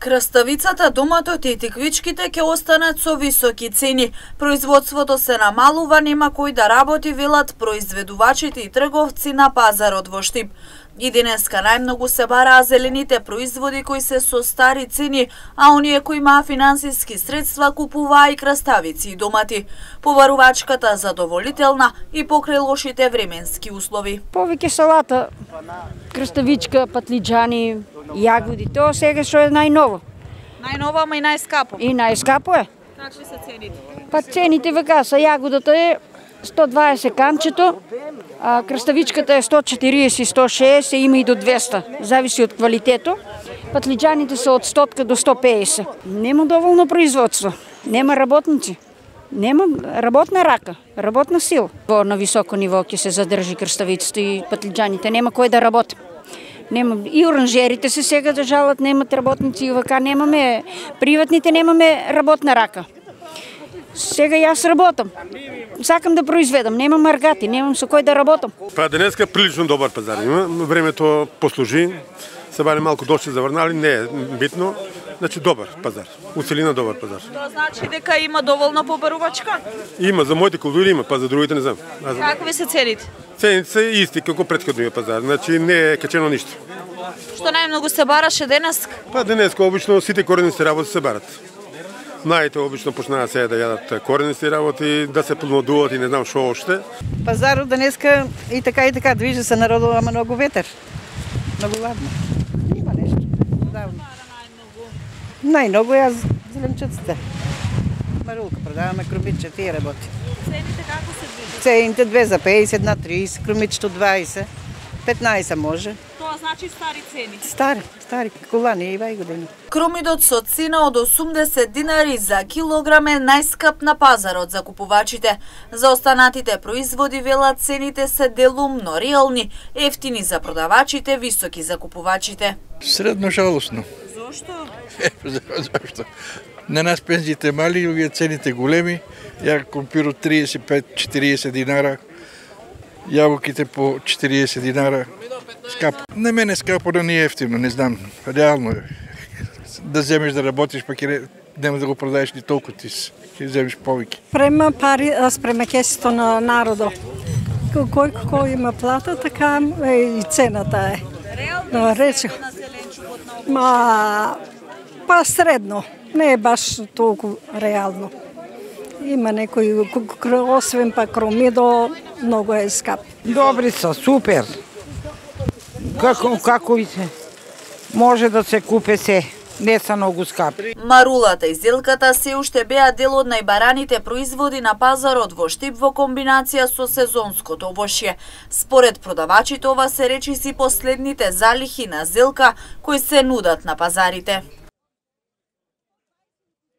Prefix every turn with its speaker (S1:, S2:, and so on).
S1: Краставицата, доматот и тиквичките ќе останат со високи цени. Производството се намалува, нема кој да работи, велат произведувачите и трговци на пазарот во Штип. И денеска најмногу се бараа зелените производи кои се со стари цени, а оние кои имаа финансиски средства купуваа и краставици и домати. Побарувачката задоволителна и покрај лошите временски услови.
S2: Повеќе салата, краставичка, патлиџани, јагоди, тоа сега што е најново.
S1: Најново, ама и најскапо.
S2: И најскапо е.
S1: Какви се цените?
S2: Па цените вака са, јагодата е 120 канчето, а краставичката е 140, 160, има и до 200, зависи од квалитето. Патлиџаните се од 100 до 150. Нема доволно производство, нема работници. Нема работна рака, работна сила. На високо ниво ќе се задржи краставицата и патлиџаните, нема кој да работи. Нема и оранжерите се сега да жалат, немат работници и вака немаме, приватните немаме работна рака. Сега јас работам. Сакам да произведам, немам маргати, немам со кој да работам.
S3: Па денеска прилично добар пазар има, времето послужи, се баре малку дошли заврнали, не е битно, значи добар пазар, уцелина добар пазар.
S1: Тоа значи дека има доволно побарувачка?
S3: Има, за моите култури има, па за другите не знам.
S1: Какви се цените?
S3: Цените се исти како претходниот пазар, значи не е качено ништо.
S1: Што најмногу се бараше денеска?
S3: Па денеска обично сите коренисти работи се барат. Наите обично почнаа сега да јадат коренисти работи, да се плодуваат и не знам што оште.
S4: Пазарот денеска и така движи се народува, ама многу ветер. Многу ладно. Има нешто. Најмногу ја зеленчуците. Марулка продаваме, крумиче, тие работи.
S1: Цените како се движат?
S4: Цените 2 за 50, на 30, крумичето 20, 15 може.
S1: Тоа значи стари цени.
S4: Стари, колани и вај години.
S1: Кромидот со цена од 80 динари за килограм е најскап на пазарот за купувачите. За останатите производи велат цените се делумно реални, ефтини за продавачите, високи за купувачите.
S5: Средно жалосно.
S1: Зошто?
S5: Зашто? На нас пензиите мали, овие цените големи. Ја компирот 35-40 динара, јаболките по 40 динара. Скапо. На мене скапо да не е ефтино, не знам. Реално е. Да земеш да работиш, пак нема да го продаеш ни толку ти ќе земеш повеќе.
S6: Према пари, спрема кесето на народо. Кој има плата, така и цената е.
S1: Реално е на зеленчукот на
S6: па средно, не е баш толку реално. Има некои, освен па кромидо, многу е скап.
S7: Добри са, супер. Како и се може да се купе се, не са многу скапи.
S1: Марулата и зелката се уште беа дел од најбараните производи на пазарот во Штип во комбинација со сезонското овошје. Според продавачите ова се речиси последните залихи на зелка кои се нудат на пазарите.